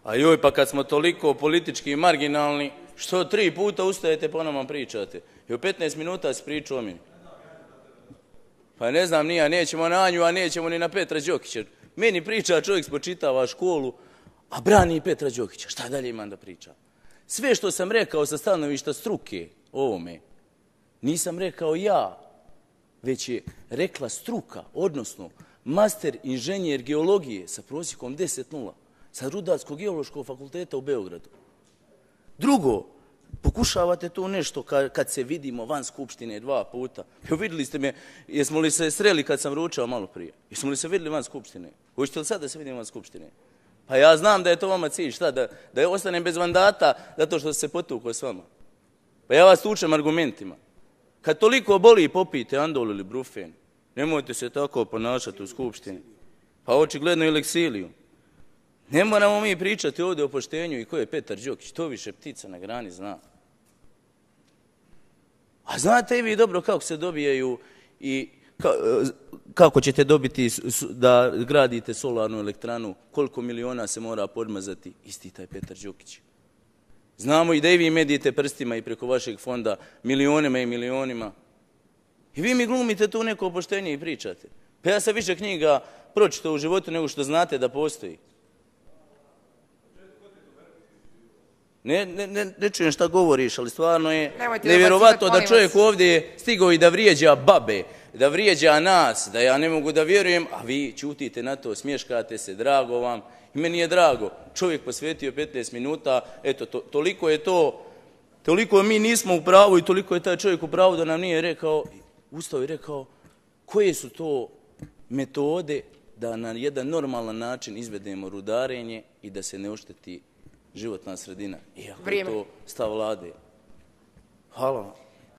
A joj, pa kad smo toliko politički marginalni, što 3 puta ustajete pa nama pričate? I u 15 minuta si pričao o meni. Pa ne znam, nija, nećemo na Anju, a nećemo ni na Petra Đokića. Meni priča čovjek, spočitava školu, a brani Petra Đokića. Šta dalje imam da pričam? Sve što sam rekao sa stanovišta struke ovome, nisam rekao ja, već je rekla struka, odnosno master inženjer geologije sa prosjekom 10,0 sa Rudarsko-geološkog fakulteta u Beogradu. Drugo, pokušavate tu nešto kad se vidimo van Skupštine 2 puta. Evo vidjeli ste me, jesmo li se sreli kad sam ručao malo prije? Jesmo li se vidjeli van Skupštine? Hoćete li sad da se vidimo van Skupštine? Pa ja znam da je to vama cilj, šta, da ostanem bez mandata zato što se potukao s vama. Pa ja vas tučem argumentima. Kad toliko boli, popijte Andol ili Brufen. Nemojte se tako ponašati u Skupštini. Pa očigledno i Leksiliju. Ne moramo mi pričati ovdje o poštenju i ko je Petar Đokić. To više ptica na grani zna. A znate i vi dobro kako se dobijaju i kako ćete dobiti da gradite solarnu elektranu, koliko miliona se mora podmazati, isti taj Petar Đokić. Znamo i da i vi medijete prstima i preko vašeg fonda milionima i milionima. I vi mi glumite tu neko poštenje i pričate. Pa ja sam više knjiga pročitao u životu nego što znate da postoji. Ne čujem šta govoriš, ali stvarno je nevjerovatno da čovjek ovdje stigao i da vrijeđa babe, da vrijeđa nas, da ja ne mogu da vjerujem, a vi ćutite na to, smješkate se, drago vam. I meni je drago, čovjek posvetio 15 minuta, eto, toliko je to, toliko mi nismo u pravu i toliko je taj čovjek u pravu da nam nije rekao, ustao i rekao, koje su to metode da na jedan normalan način izvedemo rudarenje i da se ne ošteti životna sredina. Iako je to stav vlade. Hvala vam.